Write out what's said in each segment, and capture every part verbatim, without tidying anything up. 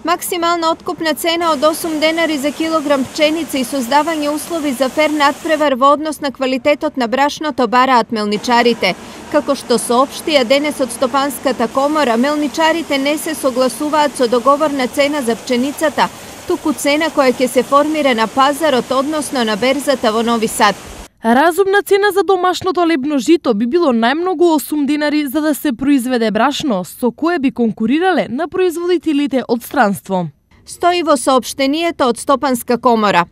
Максимална откупна цена од осум денари за килограм пченица и создавање услови за фер надпревар во однос на квалитетот на брашното бараат мелничарите. Како што соопштија денес од Стопанската комора, мелничарите не се согласуваат со договорна цена за пченицата, туку цена која ќе се формира на пазарот, односно на берзата во Нови Сад. Разумна цена за домашното лебно жито би било најмногу осум денари за да се произведе брашно, со кое би конкурирале на производителите од странство. Стои во соопштението од Стопанска комора.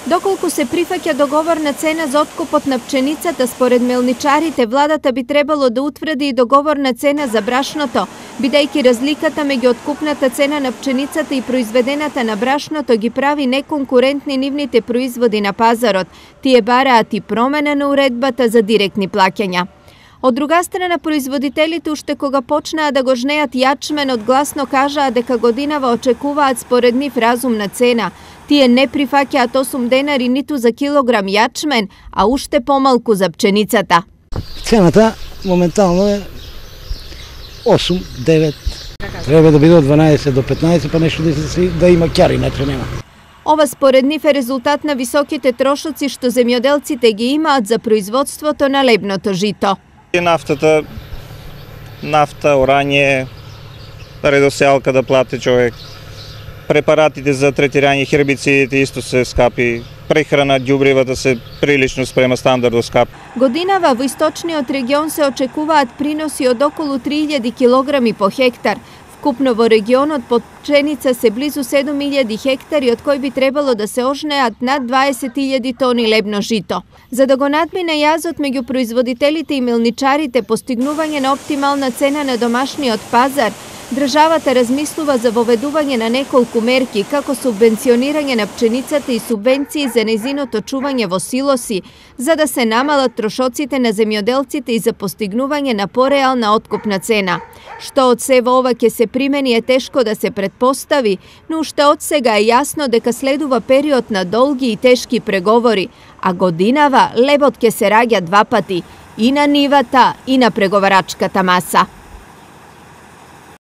Доколку се прифаќа договорна цена за откупот на пченицата, според мелничарите, владата би требало да утврди и договорна цена за брашното, бидејќи разликата меѓу откупната цена на пченицата и произведената на брашното ги прави неконкурентни нивните производи на пазарот. Тие бараат и промена на уредбата за директни плаќања. Од друга страна, производителите уште кога почнаа да го жнеат јачменот, гласно кажаа дека годинава очекуваат според нив разумна цена. Тие не прифаќаат осум денари ниту за килограм јачмен, а уште помалку за пченицата. Цената моментално е осум девет. Треба да биде од дванаесет до петнаесет, па нешто да, се, да има ќари, иначе нема. Ова според нив е резултат на високите трошоци што земјоделците ги имаат за производството на лебното жито. Нафтата, нафта, орање, редосеалка да плати човек. Препаратите за третирање хербицидите исто се скапи. Прехрана, ѓубривата се прилично спрема стандардот скапи. Годинава во источниот регион се очекуваат приноси од околу три илјади килограми по хектар. Вкупно во регионот под пченица се близу седум илјади хектари, од кои би требало да се ожнеат над дваесет илјади тони лебно жито. За да го надмине јазот меѓу производителите и мелничарите, постигнување на оптимална цена на домашниот пазар, државата размислува за воведување на неколку мерки, како субвенционирање на пченицата и субвенции за нејзиното чување во силоси, за да се намалат трошоците на земјоделците и за постигнување на пореална откупна цена. Што од сево ова ќе се примени е тешко да се предпостави, но уште од сега е јасно дека следува период на долги и тешки преговори, а годинава лебот ќе се раѓа два пати, и на нивата, и на преговарачката маса.